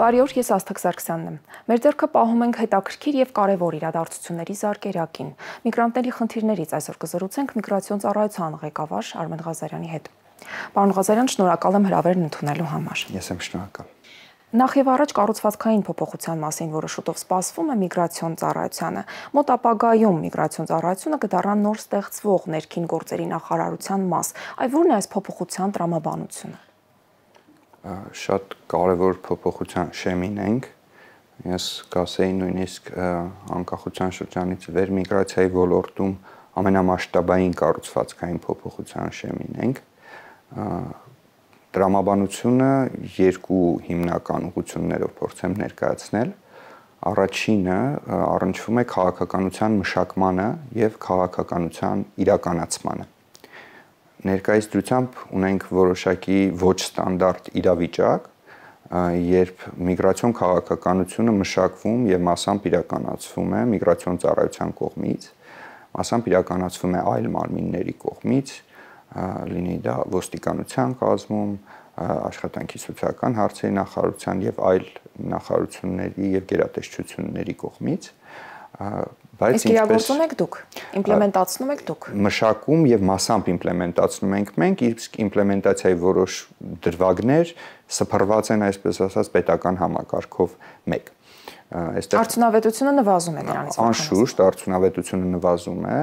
Բարի օր, ես Աստղիկ Սարգսյանն եմ։ Մեր ձեռքը պահում ենք հետաքրքիր եւ կարեւոր իրադարձությունների զարկերակին։ Միգրանտների խնդիրներից այսօր կզրուցենք միգրացիոն ծառայության ղեկավար Արմեն Ղազարյանի հետ։ Պարոն Ղազարյան, շնորհակալ եմ հրավերն ընդունելու համար։ Ես եմ շնորհակալ։ Նախ եւ առաջ կառուցվածքային փոփոխության մասին, որը շուտով սպասվում է միգրացիոն ծառայությանը։ Մոտ ապագայում միգրացիոն ծառայությունը կդառնա նոր ստեղծվող ներքին գործերի նախարարության մաս։ Այ ո՞րն է այս փոփոխության տրամաբանությունը։ Շատ կարևոր փոփոխության շեմին ենք։ Ես կասեի նույնիսկ անկախության շրջանից վեր միգրացիայի ոլորտում ամենամասշտաբային կառուցվածքային փոփոխության շեմին ենք։ Տրամաբանությունը երկու հիմնական ուղղություններով փորձեմ ներկայացնել։ Առաջինը առնչվում է քաղաքականության մշակմանը եւ քաղաքականության իրականացմանը։ Ներկայիս դրությամբ ունենք որոշակի ոչ ստանդարտ իրավիճակ, երբ միգրացիոն քաղաքականությունը մշակվում եւ մասամբ իրականացվում է միգրացիոն ծառայության կողմից, մասամբ իրականացվում է այլ մարմինների կողմից, լինի դա ոստիկանության կազմում, աշխատանքի սոցիալական հարցերի նախարարության եւ այլ նախարարությունների եւ գերատեսչությունների կողմից, Իսկ իրագործում եք դուք, իմպլեմենտացնում եք դուք։ Մշակում եւ մասամբ իմպլեմենտացնում ենք մենք, իսկ իմպլեմենտացիայի որոշ դրվագներ սփռված են, այսպես ասած, պետական համակարգով մեկ։ Արդյունավետությունը նվազում է դրանից։ Անշուշտ արդյունավետությունը նվազում է,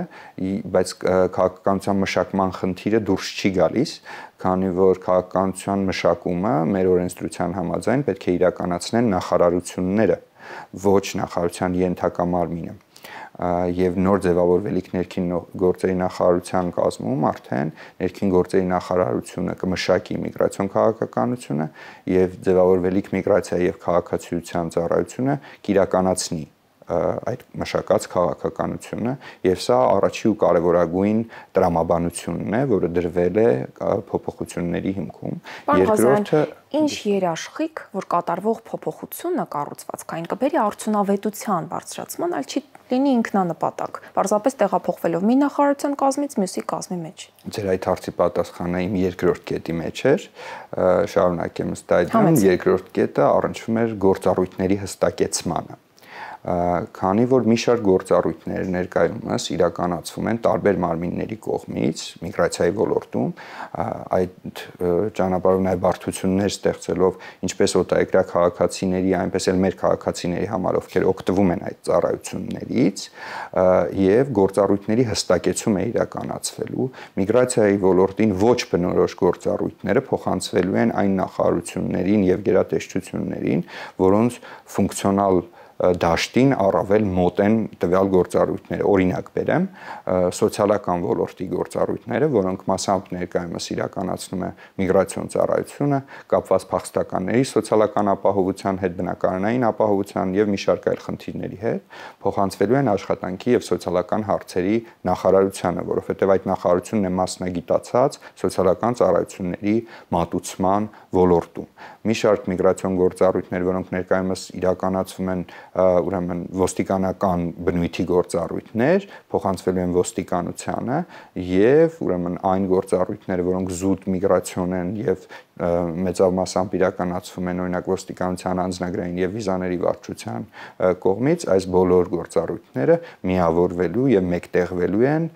բայց քաղաքականության մշակման խնդիրը դուրս չի գալիս, քանի որ քաղաքականության մշակումը մեր օրենսդրության համաձայն պետք է իրականացնեն նախարարությունները, ոչ նախարարության ենթակա մարմինը։ Եվ նոր ձևավորվելիք ներքին գործերի նախարարության կազմում արդեն ներքին գործերի նախարարությունը կմշակի միգրացիոն քաղաքականությունը եւ ձևավորվելիք միգրացիա եւ քաղաքացիության ծառայությունը կիրականացնի այդ մշակած քաղաքականությունը եւ սա առաջի ու կարեւորագույն տրամաբանությունն է, որը դրվել է փոփոխությունների հիմքում։ Երկրորդը ինչ երաշխիք, որ կատարվող փոփոխությունը կառուցվածքային կբերի արդյունավետության բարձրացման, այլ չի լինի ինքնանպատակ, պարզապես տեղափոխվելով մի նախարարության կազմից մյուսի կազմի մեջ։ Ձեր այդ հարցի պատասխանը իմ երկրորդ կետի մեջ էր, շարունակեմ ըստ այդմ, երկրորդ կետը առնչվում էր գործառույթների հստակեցմանը։ Քանի որ մի շարք գործառույթներ ներկայումս իրականացվում են տարբեր մարմինների կողմից միգրացիայի ոլորտում, այդ ճանապարհով նաև բարդություններ ստեղծելով ինչպես օտարերկրյա քաղաքացիների, այնպես էլ մեր քաղաքացիների համար, ովքեր օգտվում են այդ ծառայություններից, եւ գործառույթների հստակեցում է իրականացվելու, միգրացիայի ոլորտին ոչ բնորոշ գործառույթները փոխանցվելու են այն նախարարություններին եւ գերատեսչություններին, որոնց ֆունկցիոնալ դաշտին առավել մոտ են տվյալ գործառույթները։ Օրինակ բերեմ, սոցիալական ոլորտի գործառույթները, որոնք մասամբ ներկայումս իրականացնում է միգրացիոն ծառայությունը, կապված փախստականների սոցիալական ապահովության հետ, բնակարանային ապահովության եւ մի շարք այլ խնդիրների հետ, փոխանցվելու են աշխատանքի եւ սոցիալական հարցերի նախարարությանը, որովհետեւ այդ նախարարությունն է մասնագիտացած սոցիալական ծառայությունների մատուցման ոլորտում։ Մի շարք միգրացիոն գործառույթներ, որոնք ներկայումս իրականացվում են ուրեմն ոստիկանական բնույթի գործառույթներ փոխանցվելու են ոստիկանությանը եւ ուրեմն այն գործառույթները, որոնք զուտ միգրացիոն են եւ մեծավ մասամբ իրականացվում են օրինակ ոստիկանության անձնագրային եւ վիզաների վարչության կողմից, այս բոլոր գործառույթները միավորվելու եւ մեկտեղվելու են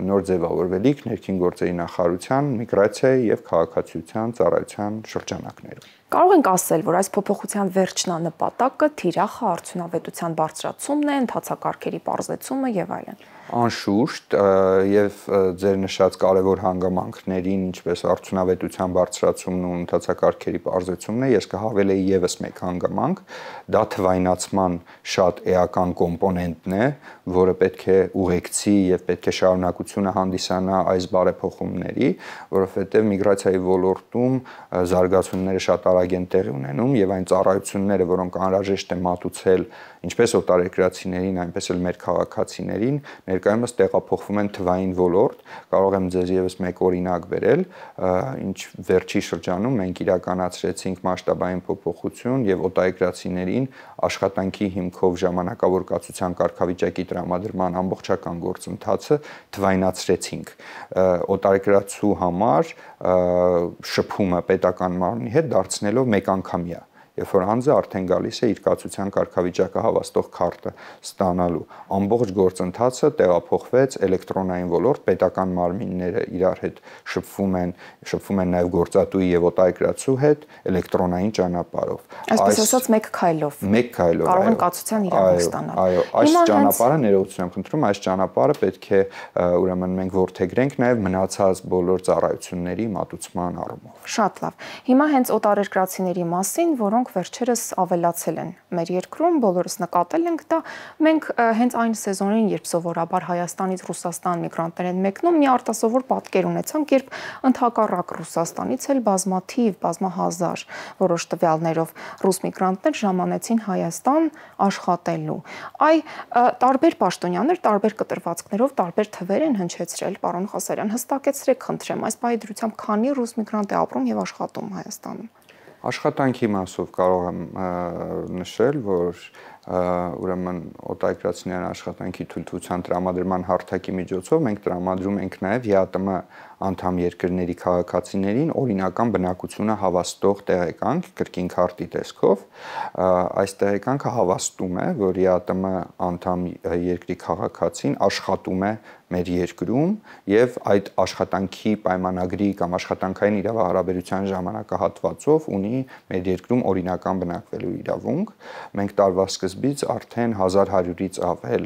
նոր ձևավորվելիք ներքին գործերի նախարարության, միգրացիայի եւ քաղաքացիության ծառայության շրջանակներում։ Կարող ենք ասել, որ այս փոփոխության վերջնանպատակը թիրախ արդյունավետության բարձրացումն է, ընթացակարգերի պարզեցումը եւ այլն։ Անշուշտ եւ ձեր նշած կարևոր հանգամանքներին, ինչպես արդյունավետության բարձրացումն ու ընթացակարգերի պարզեցումն է, ես կհավելեի եւս մեկ հանգամանք, դա թվայնացման շատ էական կոմպոնենտն է, որը պետք է ուղեկցի եւ պետք է շարունակությունը հանդիսանա այս բարեփոխումների, որովհետեւ միգրացիայի ոլորտում զարգացումները շատ արագ են տեղի ունենում եւ այն ծառայությունները, որոնք անհրաժեշտ է մատուցել ինչպես օտարերկրացիներին, այնպես էլ մեր քաղաքացիներին, ներկայումս տեղափոխվում են թվային ոլորտ։ Կարող եմ ձեզ եւս մեկ օրինակ բերել, ինչ վերջի շրջանում մենք իրականացրեցինք մասշտաբային փոփոխություն եւ օտարերկրացիներին աշխատանքի հիմքով ժամանակավոր կացության կարգավիճակի տրամադրման ամբողջական գործընթացը թվայնացրեցինք։ Օտարերկրացու համար շփումը պետական մարմնի հետ դարձնելով մեկ անգամյա։ երբ որ անձը արդեն գալիս է իր կացության կարգավիճակը հավաստող քարտը ստանալու։ Ամբողջ գործընթացը տեղափոխվեց էլեկտրոնային ոլորտ, պետական մարմինները իրար հետ շփվում են նաև գործատուի եւ օտարերկրացու հետ էլեկտրոնային ճանապարհով։ Այսպես ասած, մեկ քայլով կարող են կացության իրավունք ստանալ։ Այո, այս ճանապարհը ներողություն եմ խնդրում, այս ճանապարհը պետք է ուրեմն մենք որդեգրենք նաև մնացած բոլոր ծառայությունների մատուցման առումով։ Շատ լավ։ Հիմա հենց օտարերկրացիների մասին, որոնք վերջերս ավելացել են մեր երկրում, բոլորս նկատել ենք դա, մենք հենց այն սեզոնին, երբ սովորաբար Հայաստանից Ռուսաստան միգրանտներ են մեկնում, մի արտասովոր պատկեր ունեցանք, երբ ընդհակառակ Ռուսաստանից էլ բազմահազար որոշ տվյալներով ռուս միգրանտներ ժամանեցին Հայաստան աշխատելու։ Տարբեր պաշտոնյաներ, տարբեր կտրվածքներով, տարբեր թվեր են հնչեցրել, պարոն Ղազարյան, հստակեցրեք, խնդրեմ, այս պահի դրությամբ քանի ռուս միգրանտ է ապրում եւ աշխատում Հայաստանում։ Աշխատանքի մասով կարող եմ նշել, որ ուրեմն օտարերկրացիների աշխատանքի թույլտվության տրամադրման հարթակի միջոցով մենք տրամադրում ենք նաև ԵԱՏՄ անդամ երկրների քաղաքացիներին օրինական բնակությունը հավաստող տեղեկանք կրկին քարտի տեսքով։ Այս տեղեկանքը հավաստում է, որ ԵԱՏՄ անդամ երկրի քաղաքացին աշխատում է մեր երկրում եւ այդ աշխատանքի պայմանագրի կամ աշխատանքային իրավահարաբերության ժամանակահատվածով ունի մեր երկրում օրինական բնակվելու իրավունք։ Մենք տարվա սկզբից արդեն 1100-ից ավել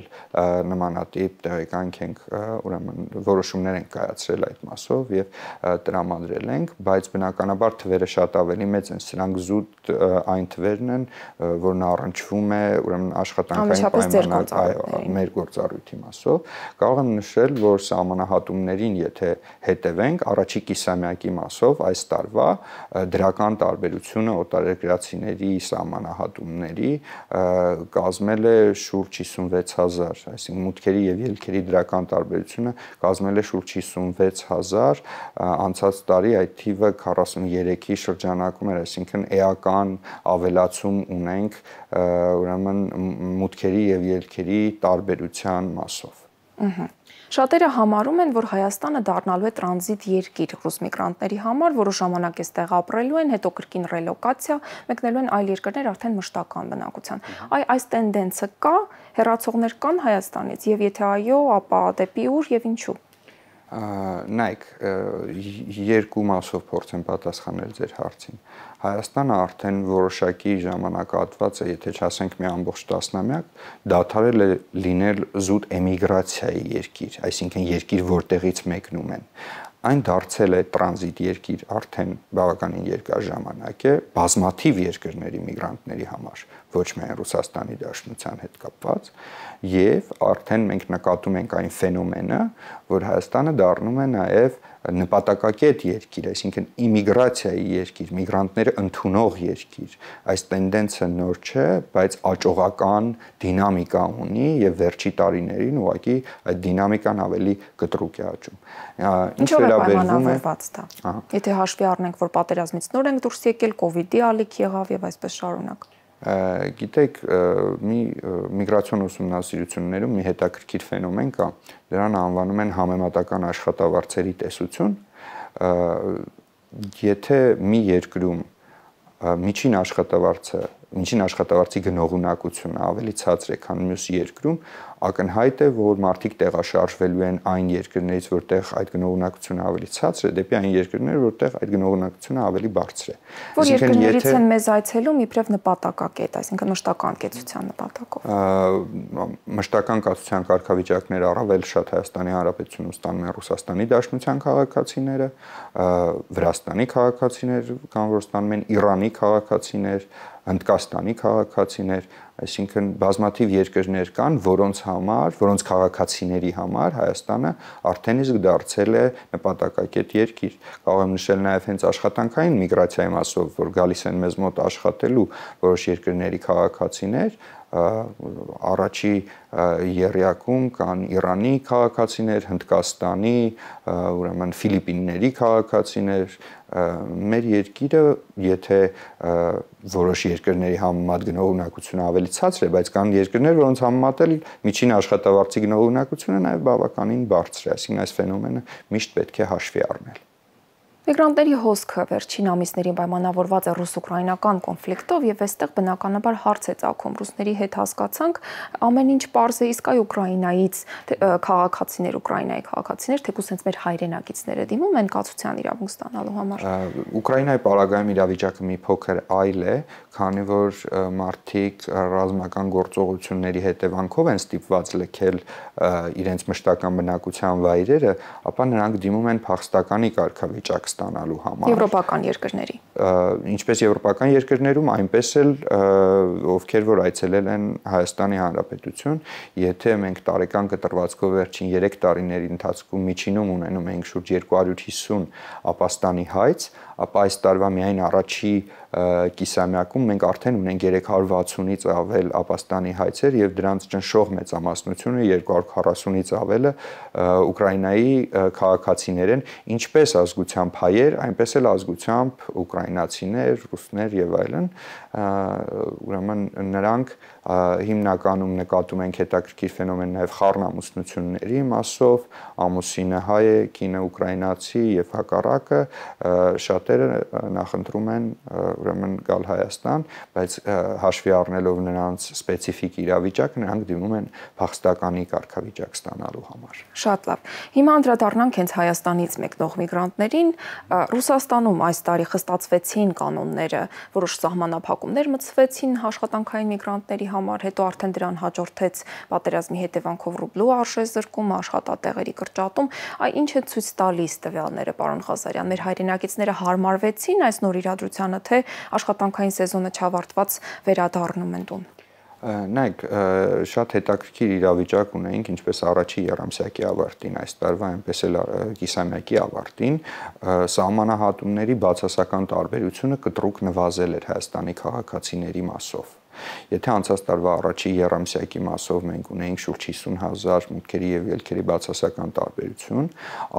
նմանատիպ տեղեկանք ենք ուրեմն որոշումներ ենք կայացրել այդ մասով եւ տրամադրել ենք, բայց բնականաբար թվերը շատ ավելի մեծ են, սրանք զուտ այն թվերն են, որն առնչվում է ուրեմն աշխատանքային պայմանագրի մեր գործառույթի մասով։ Կարող եմ նշել, որ սահմանահատումներին, եթե հետևենք, առաջի կիսամյակի մասով այս տարվա դրական տարբերությունը օտարերկրացիների սահմանահատումների կազմել է շուրջ 56000, այսինքն մուտքերի եւ ելքերի դրական տարբերությունը կազմել է շուրջ 56000, անցած տարի այդ թիվը 43-ի շրջանակում էր, այսինքն էական ավելացում ունենք ուրեմն մուտքերի եւ ելքերի տարբերության մասով։ Շատերը համարում են, որ Հայաստանը դառնալու է տրանզիտ երկիր ռուս միգրանտների համար, որը ժամանակ է ստեղ ապրելու են, հետո կրկին ռելոկացիա, մեկնելու են այլ երկրներ արդեն մշտական բնակության։ Այս տենդենսը կա, հեռացողներ կան Հայաստանից, եւ եթե այո, ապա դեպի ուր եւ ինչու։ Նայեք, երկու մասով փորձեմ պատասխանել ձեր հարցին։ Հայաստանը արդեն որոշակի ժամանակահատված է, եթե չասենք մի ամբողջ տասնամյակ, դադարել է լինել զուտ էմիգրացիայի երկիր, այսինքն երկիր, որտեղից մեկնում են։ Այն դարձել է տրանզիտ երկիր արդեն բավականին երկար ժամանակ է բազմաթիվ երկրների միգրանտների համար, ոչ միայն Ռուսաստանի Դաշնության հետ կապված, եւ արդեն մենք նկատում ենք այն ֆենոմենը, որ Հայաստանը դառնում է նաեւ նպատակակետ երկիր, այսինքն իմիգրացիայի երկիր, միգրանտները ընդունող երկիր։ Այս տենդենսը նոր չէ, բայց աճողական դինամիկա ունի եւ վերջի տարիներին ուղղակի այդ դինամիկան ավելի կտրուկ է աճում։ Ինչ վերաբերվում է դա։ Եթե հաշվի առնենք, որ պատերազմից նոր ենք դուրս եկել, կոവിഡ്ի ալիք եղավ եւ այսպես շարունակ։ Գիտեք, մի միգրացիոն ուսումնասիրություններում մի հետաքրքիր ֆենոմեն կա, դրան անվանում են համեմատական աշխատավարձերի տեսություն։ Եթե մի երկրում միջին աշխատավարձի գնողունակությունը ավելի ցածր է, քան մյուս երկրում, ակնհայտ է, որ մարդիկ տեղաշարժվելու են այն երկրներից, որտեղ այդ գնողունակությունը ավելի ցածր է, դեպի այն երկրներ, որտեղ այդ գնողունակությունը ավելի բարձր է։ Որ երկրներից են մեզ այցելում իբրև նպատակակետ, այսինքն մշտական կեցության նպատակով։ Մշտական կացության կարգավիճակներ առավել շատ Հայաստանի Հանրապետությունում ստանում են Ռուսաստանի Դաշնության քաղաքացիները, Վրաստանի քաղաքացիներ կան, որ ստանում են Իրանի քաղաքացիներ, Հնդկաստանի քաղաքացիներ, այսինքն բազմաթիվ երկրներ կան, որոնց քաղաքացիների համար Հայաստանը արդեն իսկ դարձել է նպատակակետ երկիր։ Կարող եմ նշել նաև հենց աշխատանքային միգրացիայի մասով, որ գալիս են մեզ մոտ աշխատելու որոշ երկրների քաղաքացիներ, առաջի եռյակում կան Իրանի քաղաքացիներ, Հնդկաստանի, ուրեմն Ֆիլիպինների քաղաքացիներ, մեր երկիրը, եթե որոշ երկրների համեմատ գնողունակությունը ավելի ցածր է, բայց կան երկրներ, որոնց համեմատ էլ միջին աշխատավարձի գնողունակությունը նաև բավականին բարձր է, այսինքն այս ֆենոմենը միշտ պետք է հաշվի առնել։ Միգրանտների հոսքը վերջին ամիսներին պայմանավորված է ռուս-ուկրաինական կոնֆլիկտով եւ այստեղ բնականաբար հարց է ծագում։ Ռուսների հետ հասկացանք ամեն ինչ պարզ է, իսկ այ Ուկրաինայից քաղաքացիներ, Ուկրաինայի քաղաքացիներ, թեկուզ հենց մեր հայրենակիցները դիմում են կացության իրավունք ստանալու համար։ Ուկրաինայի պարագայում իրավիճակը մի փոքր այլ է, քանի որ մարդիկ ռազմական գործողությունների հետևանքով են ստիպված լքել իրենց մշտական բնակության վայրերը, ապա նրանք դիմում են փախստականի կարգավիճակ ստանալու համար։ Եվրոպական երկրների։ Ինչպես եվրոպական երկրներում, այնպես էլ ովքեր որ այցելել են Հայաստանի Հանրապետություն, եթե մենք տարեկան կտրվածքով վերջին 3 տարիների ընթացքում միջինում ունենում ենք շուրջ 250 ապաստանի հայց, ապա այս տարվա միայն առաջի կիսամյակում մենք արդեն ունենք 360-ից ավել ապաստանի հայցեր եւ դրանց ճնշող մեծամասնությունը 240-ից ավելը Ուկրաինայի քաղաքացիներ են, ինչպես ազգությամբ հայեր, այնպես էլ ազգությամբ ուկրաինացիներ, ռուսներ եւ այլն, ուրեմն նրանք հիմնականում նկատում ենք հետաքրքիր ֆենոմեն նաև խառնամուսնությունների մասով, ամուսինը հայ է, կինը ուկրաինացի եւ հակառակը, շատերը նախընտրում են ուրեմն գալ Հայաստան, բայց հաշվի առնելով նրանց սպეციფიկ իրավիճակը, նրանք դիմում են փախստականի կարգավիճակ ստանալու համար։ Շատ լավ։ Հիմա անդրադառնանք հենց Հայաստանից մեկնող միգրանտներին։ Ռուսաստանում այս տարի խստացվեցին կանոնները, որոշ սահմանափակումներ մտցվեցին աշխատանքային միգրանտների համար, հետո արդեն դրան հաջորդեց պատերազմի հետևանքով ռուբլու արժեզրկումը, աշխատատեղերի կրճատում։ Այ ինչ է ցույց տալիս տվյալները, պարոն Ղազարյան, մեր հայրենակիցները հարմարվեցին այս նոր իրադրությանը, թե աշխատանքային սեզոնը չավարտված վերադառնում են տուն։ Նայեք, շատ հետաքրքիր իրավիճակ ունենք, ինչպես առաջի եռամսյակի ավարտին այս տարվա, այնպես էլ կիսամյակի ավարտին, սահմանահատումների բացասական տարբերությունը կտրուկ նվազել էր Հայաստանի քաղաքացիների մասով։ Եթե անցած տարվա առաջի եռամսյակի մասով մենք ունեինք շուրջ 50,000 մուտքերի եւ ելքերի բացասական տարբերություն,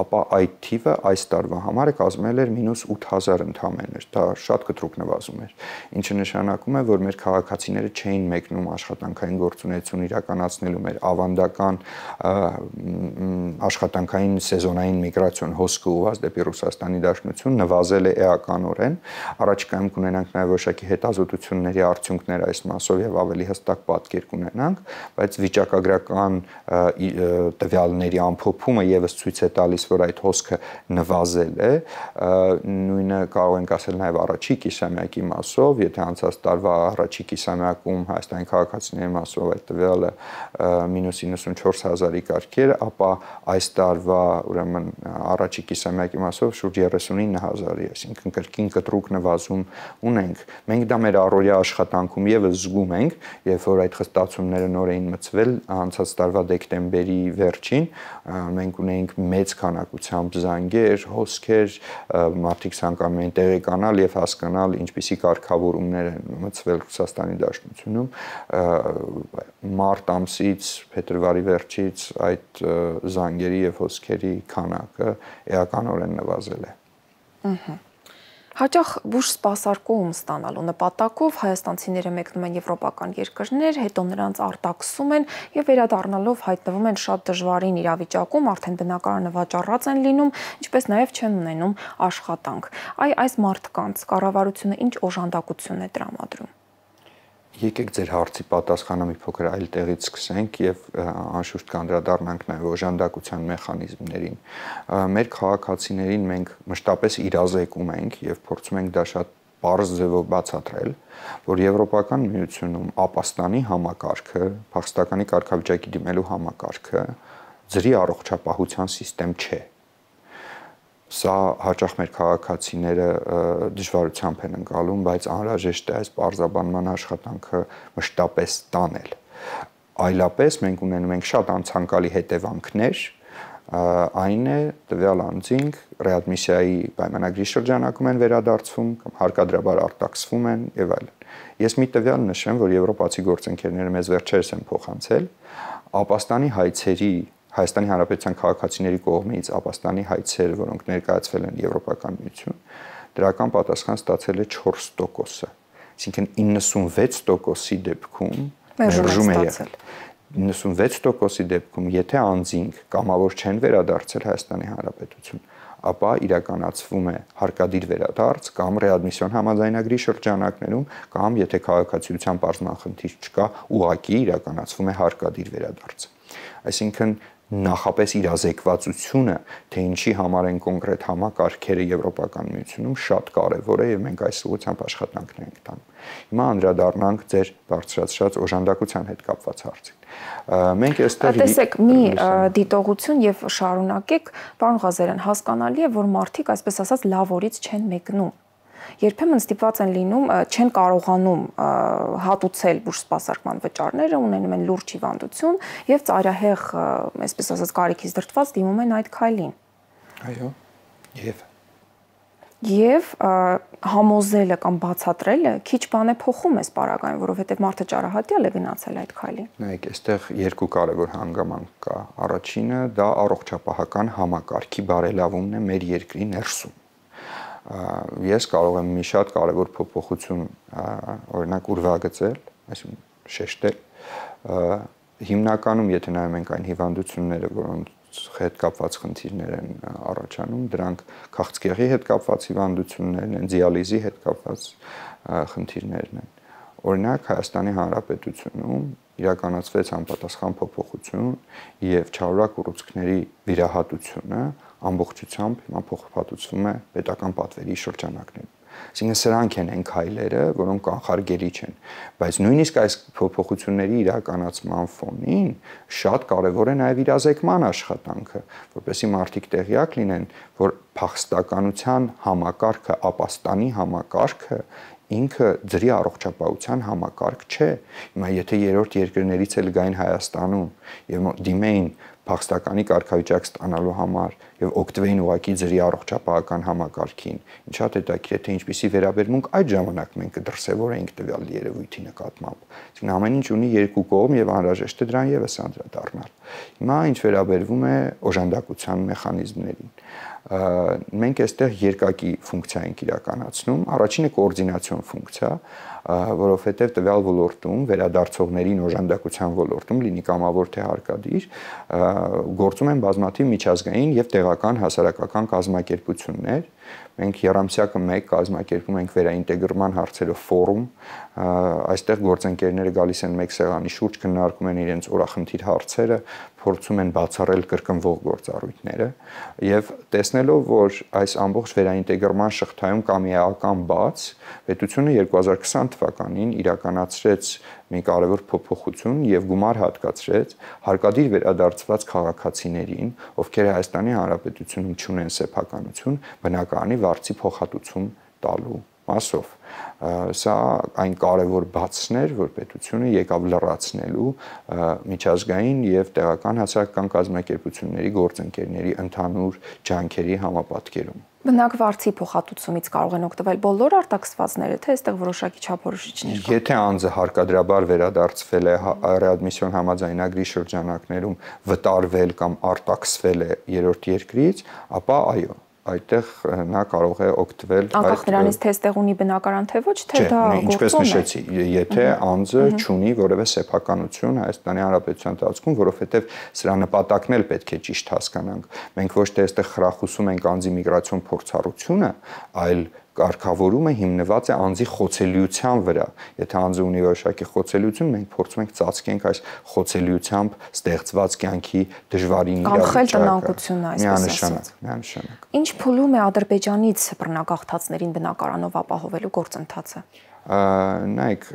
ապա այդ թիվը այս տարվա համար կազմել էր -8,000 ընդամենը, դա շատ կտրուկ նվազում էր, ինչը նշանակում է, որ մեր քաղաքացիները չէին մեկնում աշխատանքային գործունեություն իրականացնելու մեր ավանդական աշխատանքային սեզոնային միգրացիոն հոսքը ուղղված դեպի Ռուսաստանի Դաշնություն նվազել է էականորեն, առաջիկայում կունենանք նաեւ որոշակի հետազոտությունների արդյունքներ այս մասով եւ ավելի հստակ պատկեր կունենանք, բայց վիճակագրական տվյալների ամփոփումը եւս ցույց է տալիս, որ այդ հոսքը նվազել է, նույնը կարող ենք ասել նաեւ առաջի կիսամյակի մասով, եթե անցած տարվա առաջի կիսամյակում Հայաստանի քաղաքացիների մասով այդ տվյալը -94,000-ի կարգեր, ապա այս տարվա ուրեմն առաջի կիսամյակի մասով շուրջ 39,000-ի, այսինքն կրկին կտրուկ նվազում ունենք։ Մենք դա մեր առօրյա աշխատանքում եւս զգում ենք, երբ որ այդ խստացումները նոր էին մտցվել անցած տարվա դեկտեմբերի վերջին, մենք ունեինք մեծ քանակությամբ զանգեր, հոսքեր, մարդիկ ցանկանում էին տեղեկանալ եւ հասկանալ ինչպիսի կարգավորումներ են մտցվել Ռուսաստանի Դաշնությունում, մարտ ամսից փետրվարի վերջից այդ զանգերի եւ հոսքերի քանակը էականորեն նվազել է։ Հաճախ բուժ սպասարկում ստանալու նպատակով հայաստանցիները մեկնում են եվրոպական երկրներ, հետո նրանց արտաքսում են եւ վերադառնալով հայտնվում են շատ դժվարին իրավիճակում, արդեն բնակարանը վաճառած են լինում, ինչպես նաեւ չեն ունենում աշխատանք։ Այս մարդկանց կառավարությունը ինչ օժանդակություն է տրամադրում։ Եկեք ձեր հարցի պատասխանը մի փոքր այլ տեղից սկսենք եւ անշուշտ կանդրադառնանք նաեւ օժանդակության մեխանիզմներին։ Մեր քաղաքացիներին մենք մշտապես իրազեկում ենք եւ փորձում ենք դա շատ պարզ ձևով բացատրել, որ Եվրոպական միությունում ապաստանի համակարգը, փախստականի կարգավիճակի դիմելու համակարգը ձրի առողջապահության համակարգ չէ։ Սա հաճախ մեր քաղաքացիները դժվարությամբ են ընկալում, բայց անհրաժեշտ է այս պարզաբանման աշխատանքը մշտապես տանել։ Այլապես մենք ունենում ենք շատ անցանկալի հետևանքներ, այն է տվյալ անձինք ռեադմիսիայի պայմանագրի շրջանակում են վերադարձվում կամ հարկադրաբար արտաքսվում են եւ այլն։ Ես մի տվյալ նշեմ, որ եվրոպացի գործընկերները մեզ վերջերս են փոխանցել ապաստանի հայցերի Հայաստանի Հանրապետության քաղաքացիների կողմից ապաստանի հայցեր, որոնք ներկայացվել են Եվրոպական միություն, դրական պատասխան ստացել է 4%-ը, այսինքն 96%-ի դեպքում մերժում է եղել։ 96%-ի դեպքում, եթե անձինք կամավոր չեն վերադարձել Հայաստանի Հանրապետություն, ապա իրականացվում է հարկադիր վերադարձ կամ ռեադմիսիոն համաձայնագրի շրջանակներում կամ եթե քաղաքացիության պարզման խնդիր չկա, ուղղակի իրականացվում է հարկադիր վերադարձ։ Այսինքն նախապես իրազեկվածությունը, թե ինչի համար են կոնկրետ համակարգերը Եվրոպական միությունում շատ կարևոր է եւ մենք այս ուղղությամբ աշխատանքներ ենք տանում։ Հիմա անդրադառնանք ձեր բարձրացրած օժանդակության հետ կապված հարցին։ Մենք այստեղ տեսեք մի դիտողություն եւ շարունակեք, պարոն Ղազարյան, հասկանալի է, որ մարդիկ այսպես ասած լավ օրից չեն մեկնում։ Երբեմն ստիպված են լինում, չեն կարողանում հատուցել բուժսպասարկման վճարները, ունենում են լուրջ հիվանդություն եւ ծայրահեղ, այսպես ասած, կարիքից դրդված դիմում են այդ քայլին։ Այո, եւ համոզելը կամ բացատրելը քիչ բան է փոխում այս պարագային, որովհետեւ մարդը ճարահատյալ է գնացել այդ քայլին։ Նայեք, այստեղ երկու կարևոր հանգամանք կա։ Առաջինը դա առողջապահական համակարգի բարելավումն է մեր երկրի ներսում։ Ես կարող եմ մի շատ կարևոր փոփոխություն օրինակ ուրվագծել, այսինքն շեշտել, հիմնականում եթե նայում ենք այն հիվանդությունները, որոնց հետ կապված խնդիրներ են առաջանում, դրանք քաղցկեղի հետ կապված հիվանդություններն են, դիալիզի հետ կապված խնդիրներն են։ Օրինակ Հայաստանի Հանրապետությունում իրականացվեց համապատասխան փոփոխություն եւ չարորակ ուռուցքների վիրահատությունը ամբողջությամբ հիմա փոխհատուցվում է պետական պատվերի շրջանակներում։ Այսինքն սրանք են այն քայլերը, որոնք կանխարգելի չեն, բայց նույնիսկ այս փոփոխությունների իրականացման ֆոնին շատ կարևոր է նաև իրազեկման աշխատանքը, որպեսզի մարդիկ տեղյակ լինեն, որ փախստականության համակարգը, ապաստանի համակարգը ինքը ձրի առողջապահության համակարգ չէ։ Հիմա եթե երրորդ երկրներից էլ գային Հայաստանում եւ դիմեին փախստականի կարգավիճակ ստանալու համար եւ օգտվեին ուղակի ձրի առողջապահական համակարգին, ինչ շատ հետաքրքիր է, թե ինչպիսի վերաբերմունք այդ ժամանակ մենք կդրսևորեինք տվյալ երևույթի նկատմամբ։ Այսինքն ամեն ինչ ունի երկու կողմ եւ անհրաժեշտ է դրան եւս անդրադառնալ։ Հիմա ինչ վերաբերվում է օժանդակության մեխանիզմներին, մենք այստեղ երկակի ֆունկցիա ենք իրականացնում։ Առաջինը կոորդինացիոն ֆունկցիա, որովհետև տվյալ ոլորտում վերադարձողներին օժանդակության ոլորտում լինի կամավոր թե հարկադիր, գործում են բազմաթիվ միջազգային եւ տեղական հասարակական կազմակերպություններ։ Մենք երամսյակը 1 կազմակերպում ենք վերաինտեգրման հարցերով ֆորում, այստեղ գործընկերները գալիս են մեկ սեղանի շուրջ, քննարկում են իրենց օրախնդիր հարցերը, փորձում են բացառել կրկնվող գործառույթները եւ տեսնելով, որ այս ամբողջ վերաինտեգրման շղթայում կա մի էական բաց, պետությունը 2020 թվականին իրականացրեց մի կարևոր փոփոխություն եւ գումար հատկացրեց հարկադիր վերադարձված քաղաքացիներին, ովքեր Հայաստանի Հանրապետությունում չունեն սեփականություն, բնակարանի վարձի փոխհատուցում տալու մասով։ Սա այն կարևոր բացն էր, որ պետությունը եկավ լրացնելու միջազգային եւ տեղական հասարակական կազմակերպությունների գործընկերների ընդհանուր ջանքերի համապատկերում։ Բնակ վարձի փոխհատուցումից կարող են օգտվել բոլոր արտաքսվածները, թե այստեղ որոշակի չափորոշիչներ կան։ Եթե անձը հարկադրաբար վերադարձվել է ռեադմիսիոն համաձայնագրի շրջանակներում, վտարվել կամ արտաքսվել է երրորդ երկրից, ապա այո, այդտեղ նա կարող է օգտվել անկախ նրանից թե այստեղ ունի բնակարան թե ոչ, թե դա գործում է։ Ինչպես նշեցի, եթե անձը չունի որևէ սեփականություն Հայաստանի Հանրապետության տարածքում, որովհետև սրա նպատակն էլ պետք է ճիշտ հասկանանք։ Մենք ոչ թե այստեղ խրախուսում ենք անձի միգրացիոն փորձառությունը, այլ կարգավորումը հիմնված է անձի խոցելիության վրա։ Եթե անձը ունի որոշակի խոցելիություն, մենք փորձում ենք ծածկենք այս խոցելիությամբ ստեղծված կյանքի դժվարին կանխել տնանկությունը, այսպես ասած։ Միանշանակ։ Ինչ փուլում է Ադրբեջանից բռնագաղթածներին բնակարանով ապահովելու գործընթացը։ Նայեք,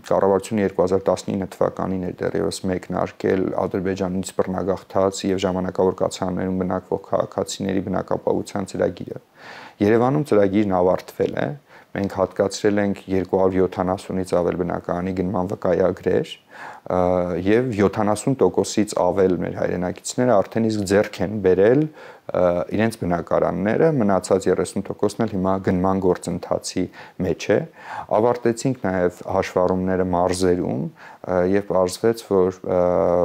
կառավարությունը 2019 թվականին էր դեռևս մեկնարկել Ադրբեջանից բռնագաղթած եւ ժամանակավոր կացարաններում բնակվող քաղաքացիների բնակապահովության ծրագիրը։ Երևանում ծրագիրն ավարտվել է, մենք հատկացրել ենք 270-ից ավել բնակարանի գնման վկայագրեր եւ 70%-ից ավել մեր հայրենակիցները արդեն իսկ ձեռք են բերել իրենց բնակարանները, մնացած 30%-ն էլ հիմա գնման գործընթացի մեջ է։ Ավարտեցինք նաև հաշվառումները մարզերում եւ պարզվեց, որ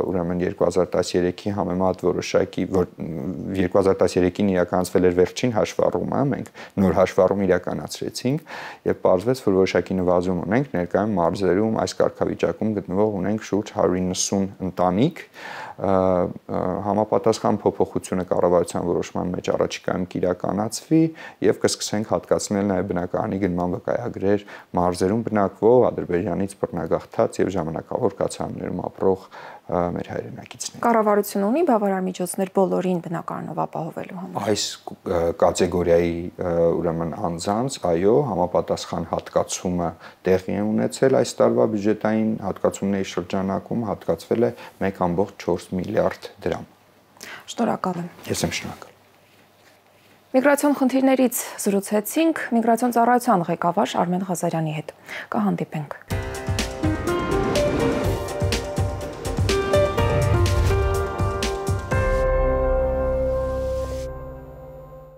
ուրեմն 2013-ի համեմատ որոշակի 2013-ին իրականացվել էր վերջին հաշվառումը, մենք նոր հաշվառում իրականացրեցինք եւ պարզվեց, որ որոշակի նվազում ունենք ներկայում մարզերում այս կարգավիճակում գտնվող ունենք շուրջ 190 ընտանիք, համապատասխան փոփոխությունը կառավարության որոշման մեջ առաջիկայում կիրականացվի եւ կսկսենք հատկացնել նաեւ բնակարանի գնման վկայագրեր մարզերում բնակվող Ադրբեջանից բռնագաղթած եւ ժամանակավոր կացարաններում ապրող մեր հայրենակիցներ։ Կառավարությունը ունի բավարար միջոցներ բոլորին բնակարանով ապահովելու համար։ Այս կատեգորիայի ուրեմն անձանց, այո, համապատասխան հատկացումը տեղի է ունեցել այս տարվա բյուջետային հատկացումների շրջանակում հատկացվել է 1.4 միլիարդ դրամ։ Շնորհակալ եմ։ Ես եմ շնորհակալ։ Միգրացիոն խնդիրներից զրուցեցինք Միգրացիոն ծառայության ղեկավար Արմեն Ղազարյանի հետ։ Կհանդիպենք։